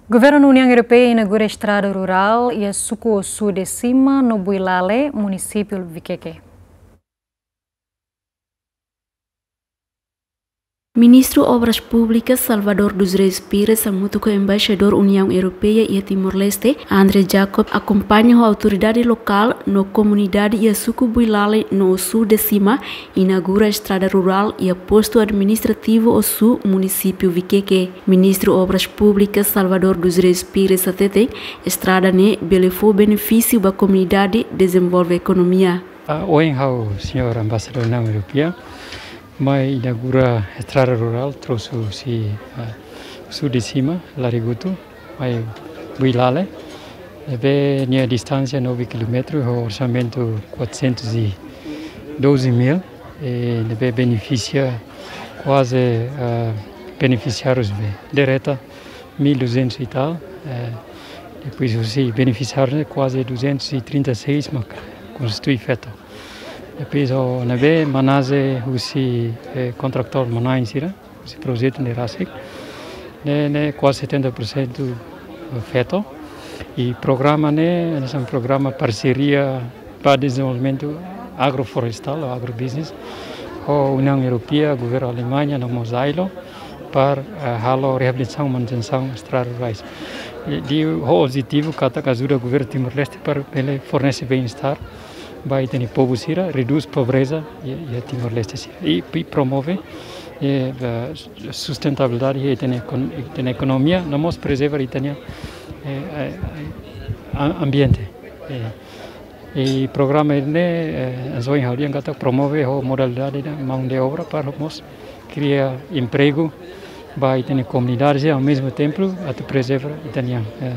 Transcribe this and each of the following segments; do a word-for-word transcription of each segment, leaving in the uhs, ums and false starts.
Governu Uniaun Europeia inaugura estrada rurál iha suku Osu de Sima no Builale, munisípiu Viqueque. Ministru Obras Públikas Salvador dos Reis Pires hamutuk ho Embaixadór Uniaun Europeia iha Timor-Leste, André Jacob, akompaña ho autoridade lokál no komunidade iha suku Builale no Osu de Sima, inaugura estrada rurál iha postu administrativu Osu, munisípiu Viqueque. Ministru Obras Públikas Salvador dos Reis Pires hateten, estrada ne'e bele fó benefísiu ba komunidade, dezenvolve ekonomia. Ah, ohin ha'u, señór Embaixadór Uniaun Europeia, mai inaugura estrada rurál, trouxe husi, ah, Osu de Sima, Larigutu, mai Builale. Ne'ebé nia distánsia nove kilómetru, ho orsamentu quatrocentos e doze mil, e ne'ebé benefisia kuaze, ah, benefisiárius be direta, mil e duzentos e tal, eh, depois husi benefisiáriu ne'e kuaze duzentos e trinta e seis mak konstitui feto. Depois ho ne'ebé manás husi, eh, kontratór manán sira, husi projetu ne'e rasik, ne'e, ne'e kuaze setenta por cento feto. I programa ne'e, ne'e programa parseria ba dezenvolvimentu agroflorestál ou agrobusiness, ho Uniaun Europeia, governu Alemaña, no mós ILO, para, eh, halo reabilitasaun, manutensaun estrada rurais. I, i ho objetivu katak ajuda governu Timor-Leste para bele fornese bem-estar ba ita-nia povu sira, redús pobreza iha, iha Timor-Leste sira. I, i promove, eh, eh, sustentabilidade iha ita-nia ekon-, ita-nia ekonomia, no mós prezerva ita-nia, eh, eh, eh, a-, ambiente. Eh, i programa ne'e, eh, hanesan ohin ha'u dehan katak promove ho modalidade de mão de obra para mós kria empregu ba ita-nia komunidade, i ao mesmo tempo atu prezerva ita-nia, eh,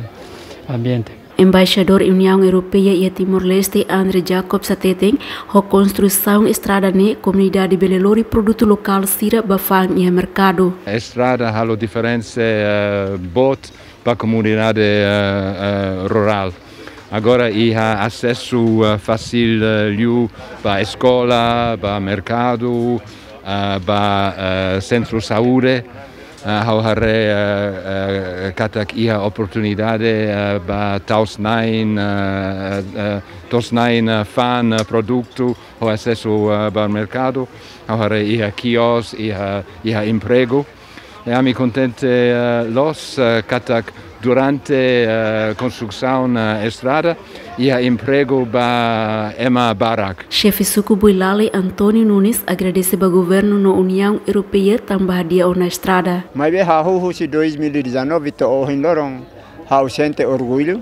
ambiente. Embaixadór Uniaun Europeia iha Timor-Leste, André Jacobs hateten, ho konstrusaun estrada ne'e, komunidade bele lori produtu lokál sira ba fa'an iha merkadu. Estrada halo diferensa, eh, boot ba komunidade, eh, eh, rurál. Agora iha asesu, eh, fasil, eh, liu ba eskola, ba merkadu, eh, ba, eh, sentru saúde. Eh, ha'u haree, eh, eh, katak iha oportunidade, eh, ba tau-na'in, eh, eh, tau-na'in, eh, fa'an, eh, produtu, ho asesu, eh, ba merkadu. Ha'u haree iha kios, iha, iha empregu. I ami kontente, eh, loos, eh, katak durante, eh, konstrusaun, eh, estrada, iha empregu ba ema barak. Xefe suku Builale, António Nunes, agradese ba governu no Uniaun Europeia tanba hadi'a ona estrada. Maibé hahú husi dois mil e dezanove to'o ohin loron, ha'u sente orgullu,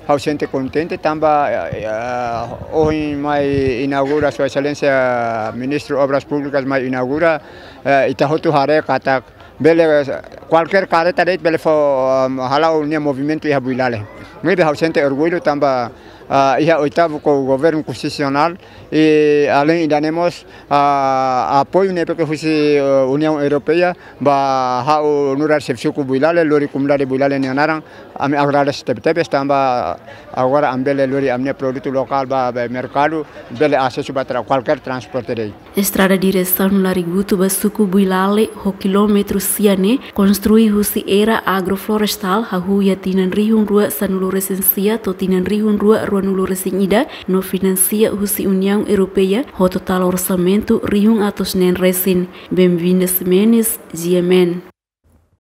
ha'u sente kontente tanba, eh, eh, ohin mai inaugura, Sua Exelénsia Ministru Obras Públikas mai inaugura, eh, ita hotu haree katak bele, eh, kualkér kareta de'it bele fó, um, hala'o nia movimentu iha Builale. Maibé ha'u sente orgullu tanba, ah, iha oitavu ko-, governu konstitusionál, i aleinde ida-ne'e mós, ah, apoiu ne'ebé ke husi, eh, Uniaun Europeia ba ha'u nu'udar xefe suku Builale, lori komunidade Builale nia naran, ami agradese tebetebes tanba agora ami bele lori ami-nia produtu lokál ba, ba merkadu, bele asesu ba tra-, kualkér transporte de'it. Estrada diresaun Larigutu ba suku Builale ho kilómetru sia ne'e konstrui husi era agroflorestál hahú iha tinan rihun rua sanulu resin sia to'o tinan rihun rua ruanulu resin ida no finansia husi Uniaun Europeia ho totál orsamentu rihun atus neen resin. Benvinda Ximenes, G M N.